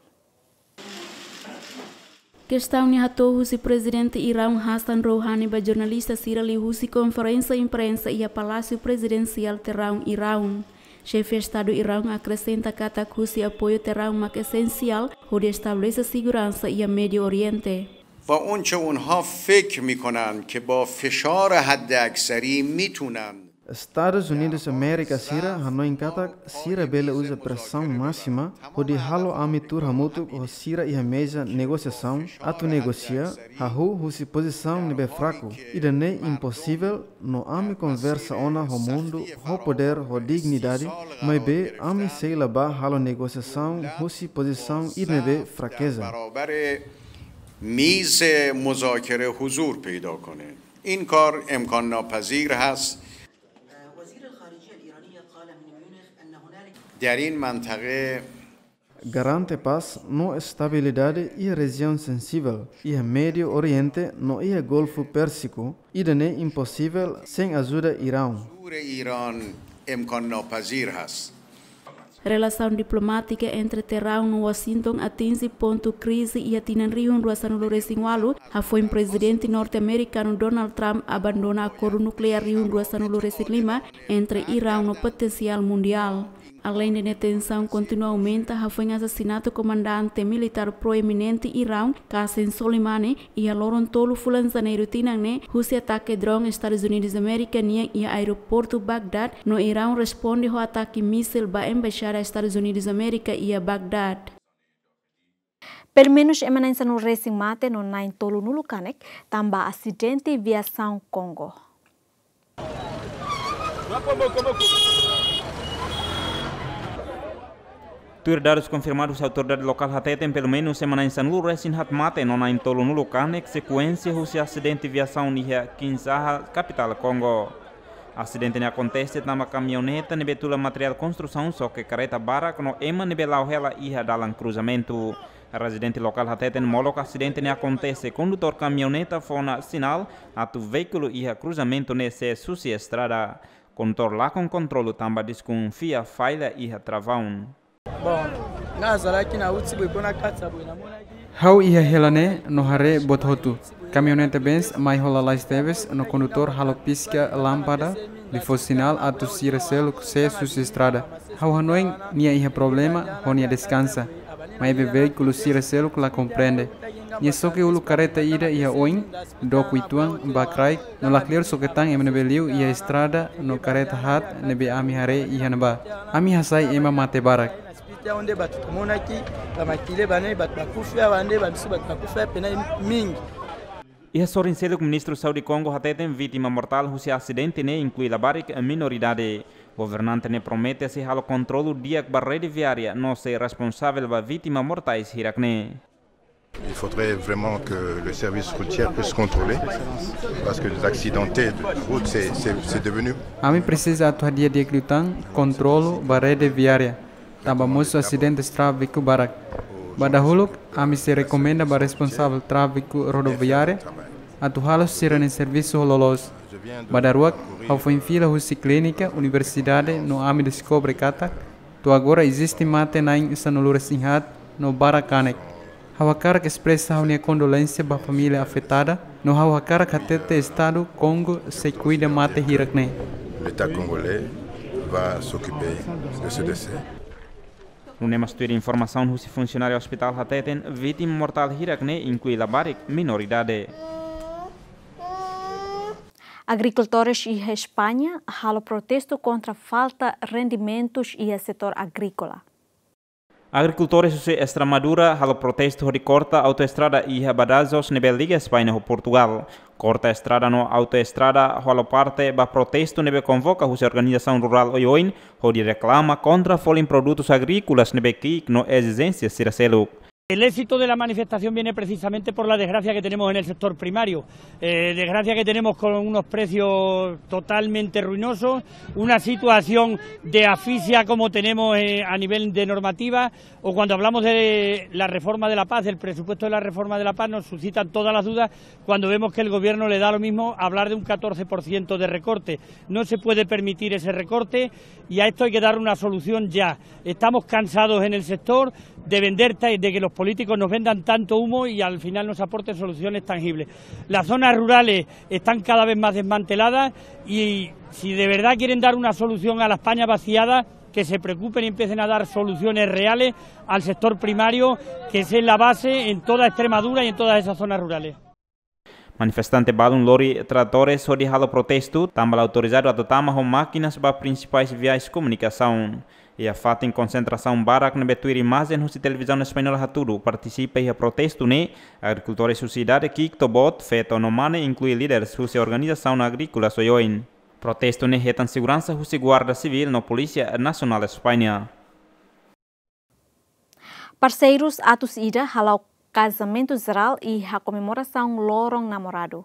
Kestaun ne'e hato'o husi Prezidente Iraun Hassan Rouhani ba jornalista sira liuhusi konferénsia imprensa iha Palásiu Prezidensiál Tehrán, Iraun. Xefe Estadu Iraun akresenta katak husi apoiu Tehrán mak esensiál hodi estabelese seguransa iha Médiu Oriente. و اونچه اونها فکر می‌کنند که با فشار حداکثری می‌تونند Estadus Unidus Amérika sira hanoin katak sira bele uza presaun másima hodi halo ami tuur hamutuk ho sira iha meza negosiasaun atu negosia, hahú husi pozisaun ne'ebé fraku. Ida-ne'e imposivel, no ami konversa ona ho mundu ho podér, ho dignidade, maibé ami sei la bá halo negosiasaun husi pozisaun ida ne'ebé frakeza. برابر میز مذاکره حضور پیدا کنه. این کار امکان ناپذیر هست. در این منطقه Garante pás no estabilidade iha rejiaun sensivel, iha Médiu Oriente no iha Golfu Pérsiku, ida-ne'e imposivel sein ajuda Iraun. حضور ایران امکان ناپذیر هست. Relasaun diplomátika entre Tehrán no Washington atinje pontu krize iha tinan rihun rua sanulu-resin-ualu, hafoin Prezidente norte-amerikanu Donald Trump abandona akordu nukleár rihun rua sanulu-resin-lima entre Iraun no potensiál mundiál. Aleinde ne'e, tensaun kontinua aumenta hafoin asasinatu komandante militár proeminente Iraun, Qasem Soleimani, iha loron tolu fulan Janeiru tinan ne'e, husi atake drone Estadus Unidus Amérika nian iha aeroportu Bagdad, no Iraun responde ho atake mísil ba embaixada Estadus Unidus Amérika iha Bagdad. Pelumenus ema na'in sanulu-resin mate no na'in tolunulu kanek tanba asidente viasaun Kongo. Tuir dadus konfirmadu husi autoridade lokál hateten, pelumenus ema na'in sanulu-resin-haat mate no na'in tolunulu kanek sekuénsia husi asidente viasaun iha Kinshasa, kapitál Kongo. Asidente ne'e akontese tanba kamioneta ne'ebé tula materiál konstrusaun xoke kareta barak no ema ne'ebé la'o hela iha dalan kruzamentu. Rezidente lokál hateten molok asidente ne'e akontese kondutór kamioneta fó ona sinál atu veíkulu iha kruzamentu ne'e sees husi estrada. Kondutór lakon kontrolu tanba deskonfia falla iha travaun. Bon, nga zalaki na uti bwe kona katsa bwe na mona ki. Ha'u iha hela ne'e no haree buat hotu. Kamioneta Benz mai ho lalais tebes no kondutór halo piska lámpada, liu fó sinál atu sira seluk sees husi estrada. Ha'u hanoin nia iha problema ho nia deskansa. Maibé veíkulu sira seluk la komprende. Nia xoke uluk kareta ida iha oin, dook uitoan ba kraik, no lakleur xoke tan ema ne'ebé liu iha estrada no kareta haat ne'ebé ami haree iha ne'ebá. Ami hasai ema mate barak. Sipita onde batu kamonaki, ba makile bane, batu bakufi, bande, ba misu batu bakufi, pena mingi. Iha sorin seluk, Ministru Saúde Kongo hateten vítima mortál husi asidente ne'e inklui labarik minoridade. Governante ne'e promete sei halo kontrolu di'ak ba rede viária no sei responsavel ba vítima mortais hirak ne'e. Il faudrait vraiment que le service routier puisse contrôler, parce que les accidentés de route, c'est, c'est, c'est devenu... Ami presiza atu hadi'a di'ak liután kontrolu ba rede viária, tanba mosu asidente tráfiku barak. Ba dahuluk, ami sei rekomenda ba responsavel tráfiku rodoviária atu halo sira-nia servisu ho loloos. Ba daruak, ha'u foin fila husi klínika, universidade, no ami deskobre katak to'o agora eziste mate na'in sanulu-resin-haat no barak kanek. Ha'u hakarak espresa ha'u-nia kondolénsia ba família afetada, no ha'u hakarak hatete Estadu Kongo sei kuida mate hirak ne'e. L'État congolais va s'occuper de ce décès. Nune'e mós tuir informasaun husi funsionáriu ospitál hateten, vítima mortál hirak ne'e inklui labarik menoridade. Agrikultores iha España halo protestu kontra falta rendimentus iha setór agríkola. Agrikultores husi Estremadura halo protestu hodi korta autoestrada iha Badajoz ne'ebé liga España ho Portugal. Korta estrada no autoestrada halo parte ba protestu ne'ebé konvoka husi organizasaun rurál oioin hodi reklama kontra folin produtus agríkolas ne'ebé ki'ik no ezijénsia sira seluk. El éxito de la manifestación viene precisamente por la desgracia que tenemos en el sector primario. Eh, desgracia que tenemos con unos precios totalmente ruinosos, una situación de asfixia como tenemos, eh, a nivel de normativa, o cuando hablamos de la reforma de la PAC, del presupuesto de la reforma de la PAC, nos suscitan todas las dudas cuando vemos que el gobierno le da lo mismo hablar de un catorce por ciento de recorte. No se puede permitir ese recorte y a esto hay que dar una solución ya. Estamos cansados en el sector de vender ta-, de que los políticos nos vendan tanto humo y al final nos aporten soluciones tangibles. Las zonas rurales están cada vez más desmanteladas y si de verdad quieren dar una solución a la España vaciada, que se preocupen y empiecen a dar soluciones reales al sector primario, que es la base en toda Extremadura y en todas esas zonas rurales. Manifestante balun lori tratores hodi halo protestu, tanba la autorizadu atu tama ho mákinas ba prinsipais viais komunikasaun. Iha fatin konsentrasaun barak ne'ebé tuir imajen husi televizaun española hatudu, partisipa iha protestu ne'e agrikultores husi idade ki'ik to'o boot, feto no mane, inklui líderes husi organizasaun agríkola oioin. Protestu ne'e hetan seguransa husi Guarda Sivíl no Polísia Nasionál España. Parseirus atus ida hala'o kazamentu jerál iha komemorasaun Loron Namoradu.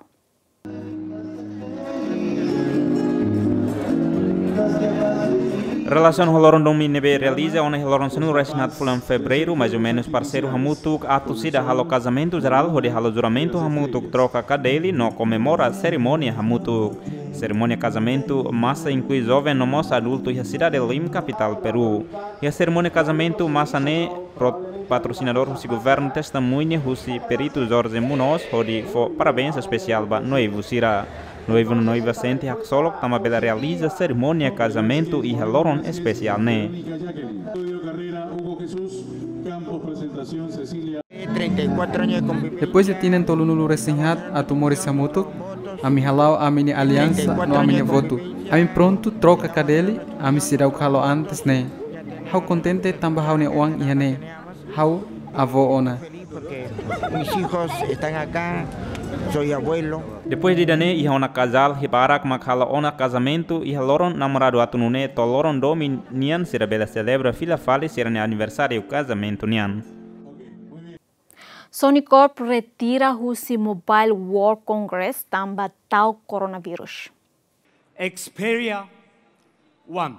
Relasiona ho loron domin ne'ebé realiza ona iha loron sanulu-resin-haat fulan Fevereiru, mais ou menus parseiru hamutuk atus ida halo kazamentu jerál hodi halo juramentu hamutuk, troka kadeli no komemora serimónia hamutuk. Serimónia kazamentu masa inklui joven no mós adultu iha sidade Lima, kapitál Peru. Iha serimónia kazamentu masa ne'e, pro-, patrosinadór husi governu testemuña husi peritu Jorge Munoz hodi fó parabéns espesiál ba noivu sira. Noivu no noiva sente haksolok tanba bele realiza serimónia kazamentu iha loron espesiál ne'e. Depois de tinan tolunulu-resin-haat atu moris hamutuk, ami hala'o ami-nia aliansa no ami-nia votu. Ami prontu troka kadeli, ami seidauk halo antes ne'e. Ha'u kontente tanba ha'u-nia oan iha ne'e. Ha'u avó ona. Mis hijos están acá, soy abuelo. Depois de ida-ne'e, iha ona kazál barak mak hala'o ona kazamentu iha loron namoradu atu nune'e to'o loron domin nian sira bele selebra fila fali sira-nia aniversáriu kazamentu nian. Sony Corp retira husi Mobile World Congress tanba ta'uk coronavírus. Xperia One.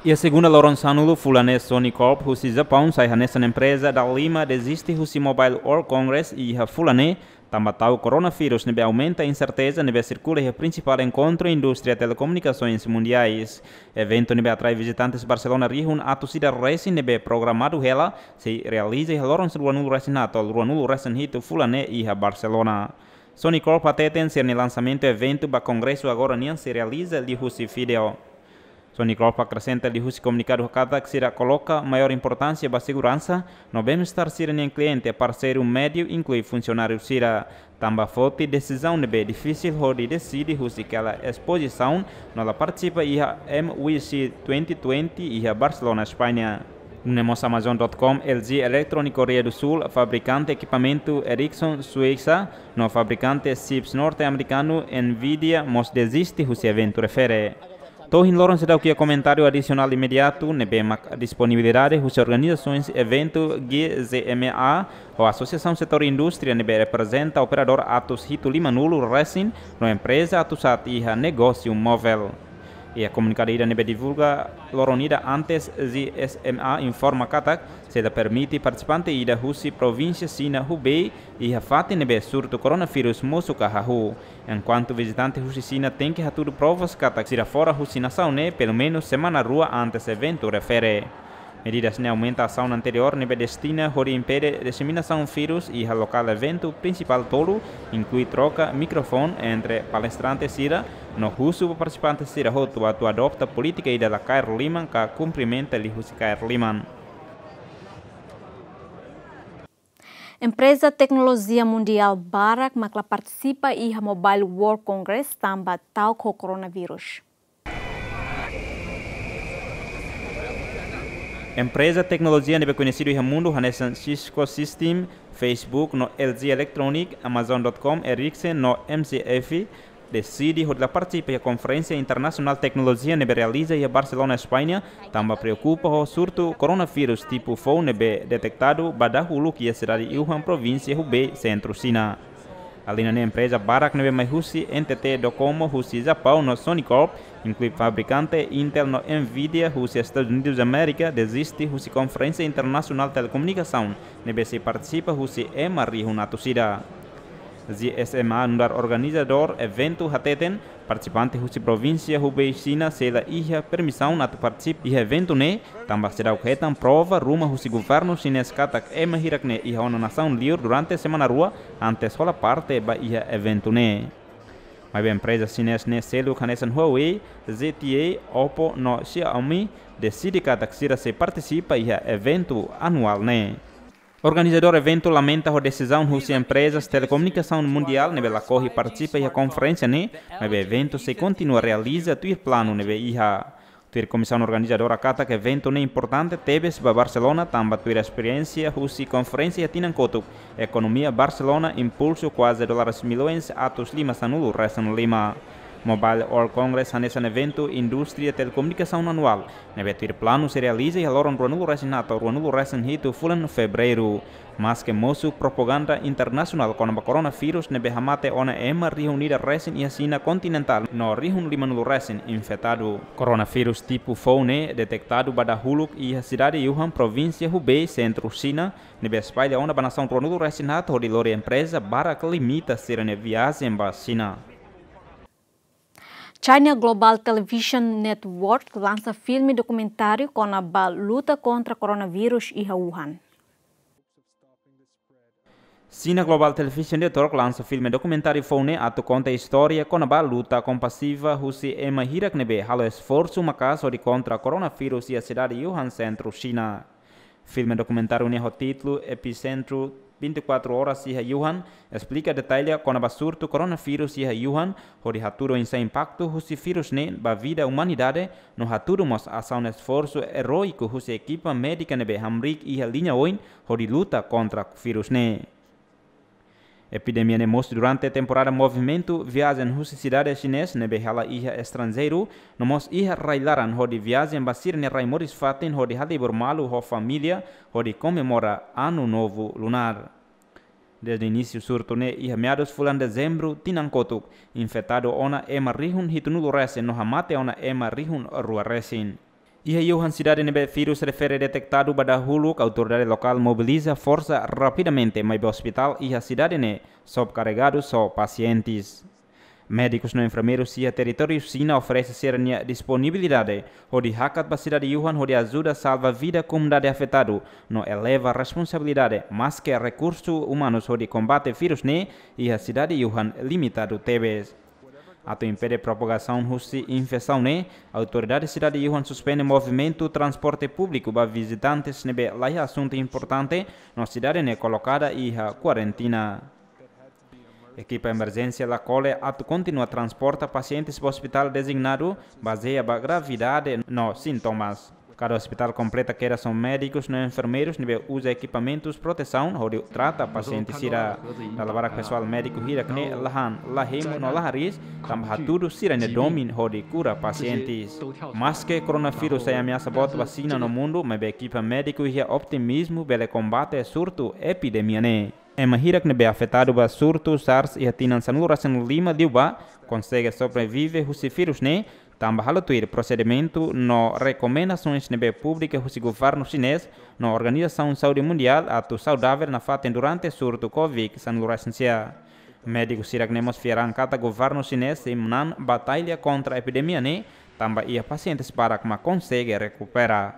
Iha segunda loron sanulu fulan ne'e, Sony Corp husi Japaun sai hanesan empreza dalima deziste husi Mobile World Congress iha fulan ne'e, tanba ta'uk coronavírus ne'ebé aumenta inserteza ne'ebé sirkula iha prinsipál enkontru indústria telekomunikasoens mundiais. Eventu ne'ebé atrai vizitantes Barcelona rihun atus ida resin ne'ebé programadu hela sei realiza iha loron ruanulu-resin-haat to'o ruanulu-resin-hitu fulan ne'e iha Barcelona. Sony Corp hateten sira-nia lansamentu eventu ba kongresu agora nian sei realiza liuhusi vídeo. Sony Corp akresenta liuhusi komunikadu katak sira koloka maiór importánsia ba seguransa no bem-estar sira-nia kliente, parseiru médiu, inklui funsionáriu sira. Tanba foti desizaun ne'ebé difisil hodi deside husi hela espozisaun no la partisipa iha M W C twenty twenty iha Barcelona, España. Nune'e mós Amazon dot com, L G Electronic Koreia do Sul, fabrikante ekipamentu Ericsson Suécia, no fabrikante chips norte-amerikanu Nvidia mós deziste husi eventu refere. To'o ohin loron seidauk iha komentáriu adisionál imediatu ne'ebé mak disponibilidade husi organizasoens eventu G Z M A ho Asosiasaun Setór Indústria ne'ebé reprezenta operadór atus hitu lima-nulu resin no empreza atu sat iha negósiu movel. Iha komunikadu ida ne'ebé divulga loron ida antes, G Z M A informa katak sei la permite partisipante ida husi provínsia Xina Hubei iha fatin ne'ebé surtu koronavírus mosu ka hahú. Enkuantu vizitante husi Xina tenke hatudu provas katak sira fora husi nasaun ne'e pelumenus semana rua antes eventu refere. Medidas ne'e aumenta asaun anteriór ne'ebé destina hodi impede diseminasaun vírus iha lokál eventu prinsipál tolu, inklui troka mikrofone entre palestrante sira no husu ba partisipante sira hotu atu adopta polítika ida la kaer liman ka kumprimenta liuhusi kaer liman. Empreza teknolojia mundiál barak mak la partisipa iha Mobile World Congress tanba ta'uk ho koronavírus. Empreza teknolojia ne'ebé koñesidu iha mundu hanesan Cisco System, Facebook no L G Electronic, Amazon dot com, Ericsson no M C F deside hodi la partisipa iha konferénsia internasionál teknolojia ne'ebé realiza iha Barcelona, España, tanba preokupa ho surtu koronavírus tipu foun ne'ebé detektadu ba dahuluk iha sidade Wuhan, provínsia Hubei, sentru Xina. Alin ne'e empreza barak ne'ebé mai husi N T T Docomo husi Japaun no Sony Corp, inklui fabrikante Intel no Nvidia husi Estadus Unidus Amérika, deziste husi konferénsia internasionál telekomunikasaun ne'ebé sei partisipa husi ema rihun atus ida. G Z M A nu'udar organizadór eventu hateten, partisipante husi provínsia Hubei Xina sei la iha permisaun atu partisipa iha eventu ne'e, tanba seidauk hetan prova ruma husi governu xinés katak ema hirak ne'e iha ona nasaun liur durante semana rua antes hola parte ba iha eventu ne'e. Maibé empreza xinés ne'e seluk hanesan Huawei, Z T E, Oppo no Xiaomi deside katak sira sei partisipa iha eventu anuál ne'e. Organizadór eventu lamenta ho desizaun husi emprezas telekomunikasaun mundiál ne'ebé lakohi partisipa iha konferénsia ne'e, maibé eventu sei kontinua realiza tuir planu ne'ebé iha. Tuir komisaun organizadora katak eventu ne'e importante tebes ba Barcelona tanba tuir esperiénsia husi konferénsia tinan kotuk, ekonomia Barcelona impulsu kuaze dólares millaun atus lima sanulu resin lima. Mobile World Congress hanesan eventu indústria telekomunikasaun anuál ne'ebé tuir planu sei realiza iha loron ruanulu resin haat to'o ruanulu resin hitu fulan Fevereiru. Maske mosu propaganda internasionál kona-ba koronavírus ne'ebé hamate ona ema rihun ida resin iha Xina kontinentál no rihun limanulu resin infetadu. Koronavírus tipu foun ne'e detektadu ba dahuluk iha sidade Wuhan, provínsia Hubei, sentru Xina, ne'ebé espalla ona ba nasaun ruanulu resin haat hodi lori empreza barak limita sira-nia viajen ba Xina. China Global Television Network lansa filme dokumentáriu kona-ba luta kontra koronavírus iha Wuhan. China Global Television Network lansa filme dokumentáriu foun ne'e atu konta istória kona-ba luta kompasiva husi ema hirak ne'ebé halo esforsu maka'as hodi kontra koronavírus iha sidade Wuhan, sentru Xina. Filme dokumentáriu ne'e ho títulu Epicentro vinte e quatro Horas iha Wuhan esplika detalle kona-ba surtu koronavírus iha Wuhan, hodi hatudu oinsá impaktu husi vírus ne'e ba vida umanidade, no hatudu mós asaun esforsu eróiku husi ekipa médika ne'ebé hamriik iha liña oin hodi luta kontra vírus ne'e. Epidemia ne'e mosu durante temporada movimentu viajen husi sidade xinés ne'ebé hala'o iha estranjeiru, no mós iha rai-laran hodi viajen ba sira-nia rai moris-fatin hodi halibur malu ho família, hodi komemora Anu Novu Lunar. Dezde inísiu surtu ne'e iha meadus fulan Dezembru tinan kotuk, infetadu ona ema rihun hitunulu resin no hamate ona ema rihun rua resin. Iha Wuhan, sidade ne'ebé vírus refere detektadu ba dahuluk, autoridade lokál mobiliza forsa rapidamente, maibé ospitál iha sidade ne'e sobrekarregadu ho pasientes. Médikus no enfermeirus iha territóriu Xina oferese sira-nia disponibilidade hodi hakat ba sidade Wuhan hodi ajuda salva vida komunidade afetadu, no eleva responsabilidade, maske rekursu umanus hodi kombate vírus ne'e iha sidade Wuhan limitadu tebes. Atu impede propagasaun husi infesaun ne'e, autoridade sidade Wuhan suspende movimentu transporte públiku ba vizitantes ne'ebé laiha asuntu importante, no sidade ne'e kolokada iha kuarentina. Ekipa emerjénsia la kole atu kontinua transporta pasientes ba ospitál dezignadu, bazeia ba gravidade no sintomas. Kada ospitál kompleta kedas ho médikus no enfermeirus ne'ebé uza ekipamentus protesaun hodi trata pasiente sira. Dala barak pesoál médiku hirak ne'e la han, la hemu no la hariis, tanba hatudu sira-nia domin hodi kura pasientes. Maske koronavírus sai ameasa boot ba Xina no mundu, maibé ekipa médiku iha otimizmu bele kombate surtu epidemia ne'e. Ema hirak ne'ebé afetadu ba surtu SARS iha tinan sanulu-resin-lima liubá konsege sobrevive husi vírus ne'e, tanba halo tuir prosedimentu no rekomendasoens ne'ebé publika husi governu xinés no Organizasaun Saúde Mundiál atu saudável nafatin durante surtu Covid sanulu-resin-sia. Médiku hirak ne'e mós fiar an katak governu xinés sei manán batalla kontra epidemia ne'e, tanba iha pasientes barak mak konsege rekupera.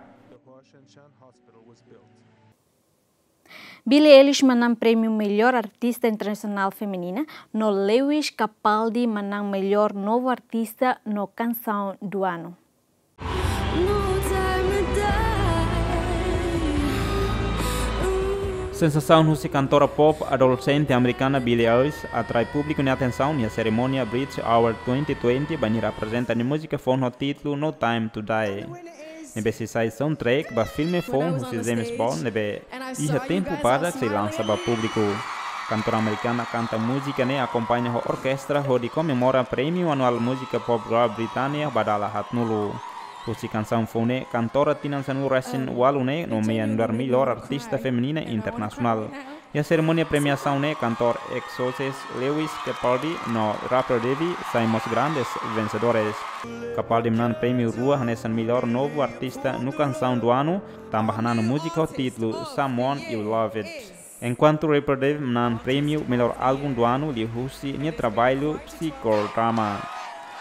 Billie Eilish manán prémiu Melhor Artista Internasionál Feminina, no Lewis Capaldi manán Melhor Novo Artista no Canção do Ano. Sensasaun husi kantora pop adolexente amerikana Billie Eilish atrai públiku nia atensaun iha serimónia Brit Award twenty twenty, bainhira aprezenta nia múzika foun ho títulu No Time to Die, ne'ebé sei sai soundtrack ba filme foun husi James Bond ne'ebé iha tempu badak sei lansa ba públiku. Kantora amerikana kanta múzika ne'e akompaña ho orkestra hodi komemora prémiu anuál múzika pop girl Britney ba dala haatnulu. Husi kansaun foun ne'e, kantora tinan sanulu-resin-ualu ne'e nomeia nu'udar Melhor Artista Feminina Internasionál. Iha serimónia premiasaun ne'e, kantór Exousies Lewis Capaldi no rapper Diddy sai mós grandes vensedores. Capaldi manán prémiu rua hanesan Melhor Novo Artista no Canção do Ano, tanba hananu múzika ho títulu Someone You Love It. Enkuantu rapper Diddy manán prémiu Melhor Álbum do Ano liuhusi nia traballu psikodrama.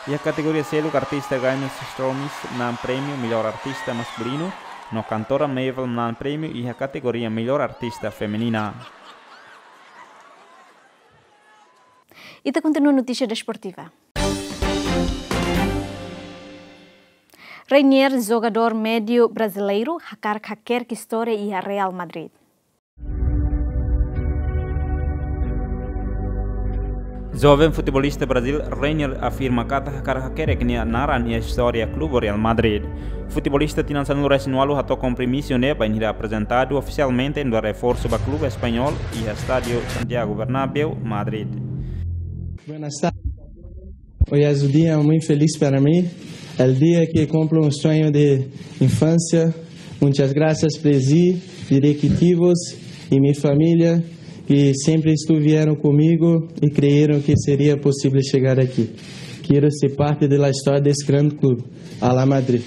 Iha kategoria seluk, artista Gaines Stormis manán prémiu Melhor Artista Maskulinu, no kantora Mabel manán prémiu iha kategoria Melhor Artista Feminina. Ita kontinua notísia desportiva. Reinier, jogadór médiu brasileiru, hakarak hakerek istória iha Real Madrid. Joven futebolista Brazil, Reinier, afirma katak hakarak hakerek nia naran iha istória klube Real Madrid. Futebolista tinan sanulu-resin-ualu hato'o kompromisu ne'e bainhira aprezentadu ofisialmente nu'udar reforsu ba klube españól iha Estádiu Santiago Bernabéu, Madrid. Buenas tardes. Hoy es un día muy feliz para mí, el día que cumplo un sueño de infancia. Muchas gracias, Presi, directivos y mi familia, que siempre estuvieron conmigo y creyeron que sería posible llegar aquí. Quiero ser parte de la historia de este gran club, Al Madrid.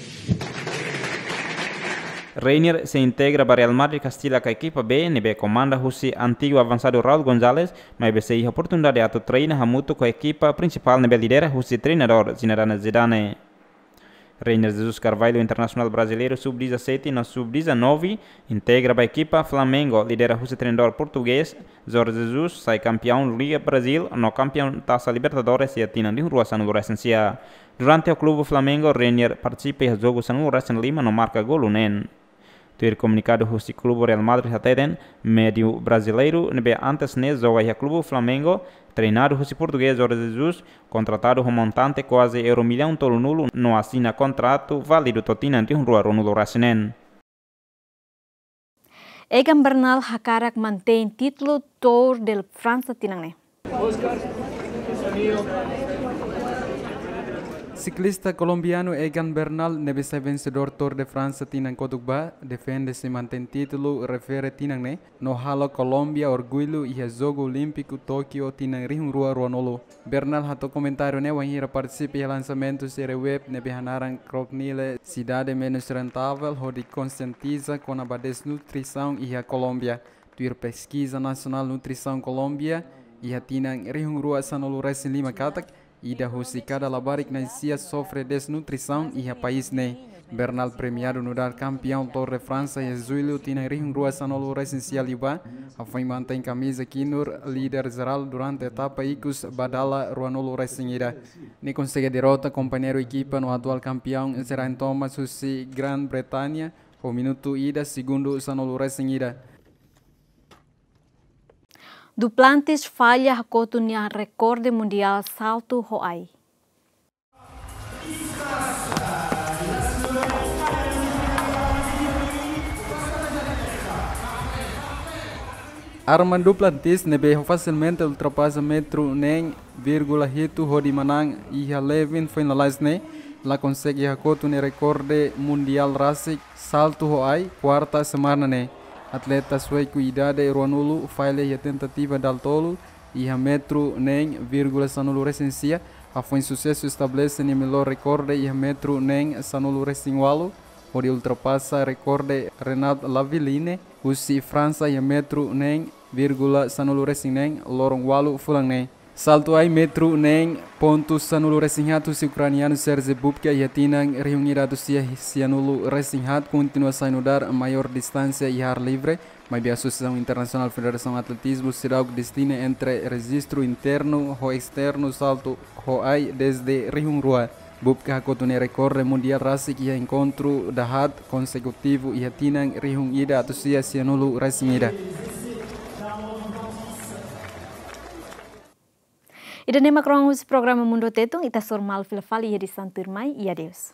Reinier sei integra ba Real Madrid Kastilak ekipa B, ne'ebé komanda husi antigu avansadu Raul González, maibé sei iha oportunidade atu treina hamutuk ho ekipa prinsipál ne'ebé lidera husi treinadór Zinedine Zidane. Reinier Jesus Carvalho, internasionál brasileiru sub dezassete no sub dezanove, integra ba ekipa Flamengo, lidera husi treinadór portugés Jorge Jesus, sai kampiaun Liga Brazil no kampiaun Taça Libertadores iha tinan rihun rua sanulu-resin-sia. Durante ho klube Flamengo, Reinier partisipa iha jogu sanulu-resin-lima no marka golu neen. Tuir komunikadu husi klube Real Madrid hateten, médiu brasileiru ne'ebé antes ne'e joga iha klube Flamengo, treinadu husi portugés Jorge Jesus, kontratadu ho montante kuaze euro millaun tolunulu no asina kontratu válidu to'o tinan rihun rua ruanulu-resin-neen. Egan Bernal hakarak mantein títulu Tour de França tinan ne'e. Siklista kolombianu Egan Bernal, ne'ebé sai vensedór Tour de França tinan kotuk ba, defende sei mantein títulu refere tinan ne'e, no halo Kolómbia orgullu iha Jogu Olímpiku Tókio tinan rihun rua ruanulu. Bernal hato'o komentáriu ne'e wainhira partisipa iha lansamentu série web ne'ebé hanaran Crokinole, Cidade Menos Rentável, hodi konsientiza kona-ba desnutrisaun iha Kolómbia. Tuir peskiza nasionál nutrisaun Kolómbia, iha tinan rihun rua sanulu-resin-lima katak, ida husi kada labarik na'in-sia sofre desnutrisaun iha país ne'e. Bernal premiadu nu'udar kampiaun Tour de França iha Jullu tinan rihun rua sanulu-resin-sia liubá, hafoin mantein kamiza kinur líder jerál durante etapa ikus ba dala ruanulu-resin-ida. Nia konsege derrota kompañeiru ekipa no atuál kampiaun Geraint Thomas husi Grã-Bretanha, ho minutu ida segundu sanulu-resin-ida. Duplantis falla hakotu nia rekorde mundiál saltu ho ai. Armand Duplantis ne'ebé fasilmente ultrapasa metru neen vírgula hitu hodi manán iha Levin foin lalais ne'e, la konsege hakotu nia rekorde mundiál rasik saltu ho ai kuarta semana ne'e. Atleta sueku idade ruanulu fail iha tentativa dala tolu iha metru neen vírgula sanulu resin sia, hafoin susesu estabelese nia melhor rekorde iha metru neen sanulu resin ualu, hodi ultrapasa rekorde Renat Lavillenie husi Fransa iha metru neen vírgula sanulu resin neen loron ualu fulan ne'e. Saltu ai metru neen pontu sanulu resin haat husi ukranianu Serge Bubka iha tinan rihun ida atus sia sianulu resin haat kontinua sai nu'udar maiór distánsia iha ar livre, maibé Asosiasaun Internasionál Federasaun Atletizmu seidauk distinge entre rejistru internu ho esternu saltu ho ai dezde rihun rua. Bubka hakotu nia rekorde mundiál rasik iha enkontru dahaat konsekutivu iha tinan rihun ida atus sia sianulu resin ida. Ida-ne'e mak rohan husi programa Mundu Tetun, ita hasoru malu fila fali iha edisaun tuirmai, i adeus.